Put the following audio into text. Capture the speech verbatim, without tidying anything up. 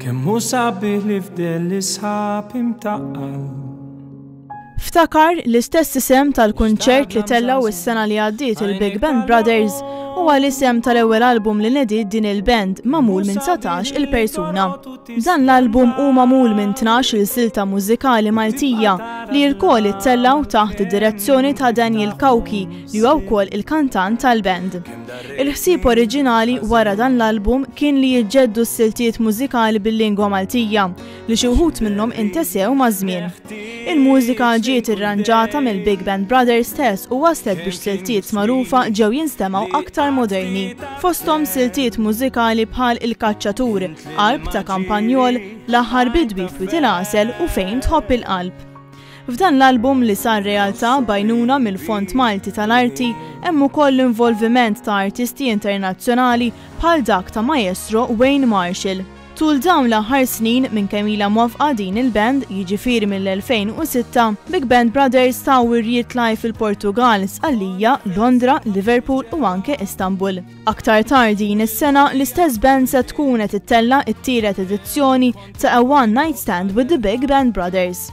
Kemm hu sabiħ li fdell is-sħab imtaqqal. Ftakar, l-istess isem tal-kunċert li tellaw is-sena li għaddiet il-Big Band Brothers, huwa l-isem tal-ewwel album li nediet din il-band magħmul minn dsatax il-persuna. Dan l-album hu magħmul minn tnax il silta mużikali Maltija li lkoll ittellaw taħt id-direzzjoni ta' Daniel Cauchi, li huwa wkoll il-kantant tal-band. Il-ħsieb oriġinali wara dan l-album kien li jiġġeddu s-siltiet mużikali bil-lingwa Maltija li xi wħud minnhom intesew maż-żmien. Il-mużika ġiet irranġata mill-Big Band Brothers stess u waslet biex siltiet magħrufa ġew jinstemgħu aktar moderni. Fosthom siltiet mużikali bħal Il-Kaċċatur, Qalb ta' Kampanjol, L-Aħħar Bidwi f'Wied il-Għasel u Fejn Tħobb il-Qalb. F'dan l-album li sar realtà b'għajnuna mill-Fond Malti tal-Arti hemm ukoll l-involviment ta' artisti internazzjonali bħal dak ta' Maestro Wayne Marshall. Tul dawn l-aħħar snin minn kemm ilha mwaqqfa din il-band, jiġifieri mill-elfejn u sitta, Big Band Brothers taw wirjiet live fil-Portugal, Sqallija, Londra, Liverpool u anke Istanbul. Aktar tard din is-sena, l-istess band se tkun qed ittella' it-tielet edizzjoni ta' A One Night Stand with the Big Band Brothers.